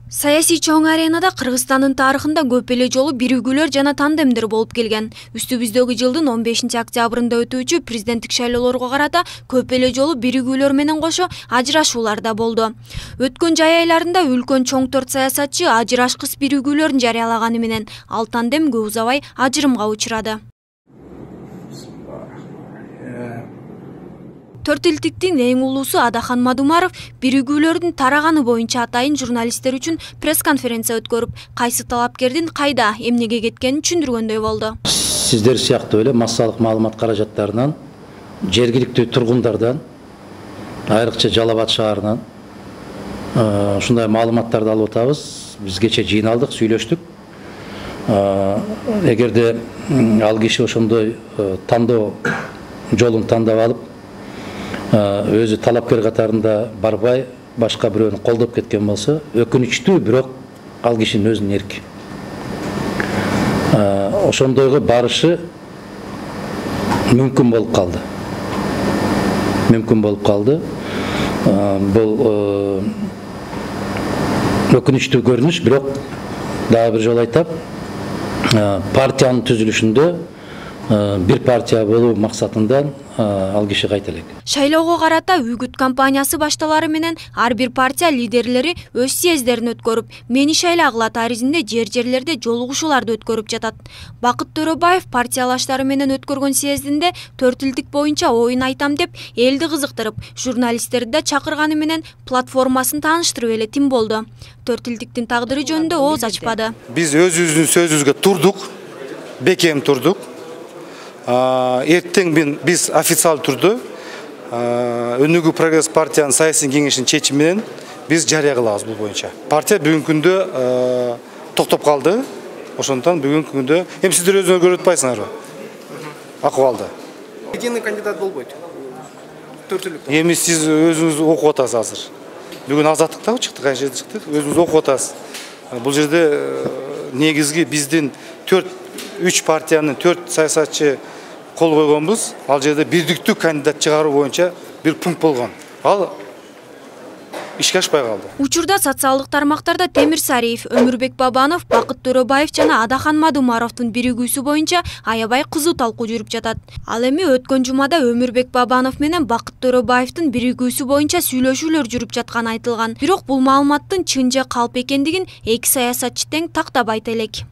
Саясий чоң аренада Кыргызстандын тарыхында көп эле жолу биригүүлөр жана тандемдер болуп келген. Үстүбүздөгү жылдын 15-октябрында өтүүчү президенттик шайлоолорго карата көп эле жолу биригүүлөр менен кошо ажырашуулар да болду. Өткөн жай айларында үлкөн чоң төрт саясатчы ажырашкыс биригүүлөрүн жарыялаганы менен ал тандем көп узабай ажырымга учурады. Төрт элдиктин эң улуусу Адахан Мадумаров биригүүлөрдүн тараганы боюнча атайын журналисттер үчүн пресс-конференция өткөрүп, кайсы талапкердин кайда, эмнеге кеткенин түшүндүргөндөй болду. Сиздер сыяктуу эле массалык маалымат каражаттарынан, жергиликтүү тургундардан, айрыкча Жалал Абад шаарынан ушундай маалыматтарды алып атабыз. Биз кече жыйналдык, сүйлөштүк. Эгерде ал киши ошондой тандоо жолун тандап алып, өзү талапкер катарында барбай, башка бирөөнү колдоп кеткен болсо, өкүнүчтүү, бирок ал кишинин өзүнүн эрки. Ошондойго барышы мүмкүн болуп калды. Бул өкүнүчтүү көрүнүш, бирок дагы бир жолу айтам, партиянын түзүлүшүндө бир партия болуу максатында ал киши кайта элек. Шайлоого карата үгүт кампаниясы башталары менен ар бир партия лидерлери өз съездерин өткөрүп, мени шайлагыла таризинде жерлерде жолугушууларды өткөрүп жатат. Бакыт Төрөбаев партиялаштары менен өткөргөн съездинде төрт элдик боюнча оюн айтам деп элди кызыктырып, журналисттерди да чакырганы менен платформасын тааныштырып эле тим болду. Төрт элдиктин тагдыры жөнүндө ооз ачпады. Биз өзүбүздүн сөзүбүзгө турдук, бекем турдук. Эртең биз официалдуу түрдө Өнүгүү прогресс партиянын саясий кеңешинин чечими менен биз жарыя кылабыз бул боюнча. Партия бүгүнкү күндө токтоп калды. Ошондон бүгүнкү күндө эми сиздер өзүңөр көрүп атпайсыңарбы? Акыбалды. Единый кандидат болбойт. Төртүлүк. Эми сиз өзүңүз окуп атасыз азыр. Бүгүн Азаттыктагы чыктык, кайсы жерде чыктык? Өзүңүз окуп атасыз. Бул жерде негизги биздин 3 партиянын 4 саясатчы кол койгонбуз. Ал жерде бирдиктүү кандидат чыгаруу боюнча бир пункт болгон. Ал ишке ашпай калды. Учурда социалдык тармактарда Темир Сариев, Өмүрбек Бабанов, Бакыт Төрөбаев жана Адахан Мадумаровдун биригүүсү боюнча аябай кызуу талкуу жүрүп жатат. Ал эми өткөн жумада Өмүрбек Бабанов менен Бакыт Төрөбаевдин биригүүсү боюнча сүйлөшүүлөр жүрүп жатканы айтылган. Бирок бул маалыматтын чын же калп экендигин эки саясатчы тең тактап айта элек.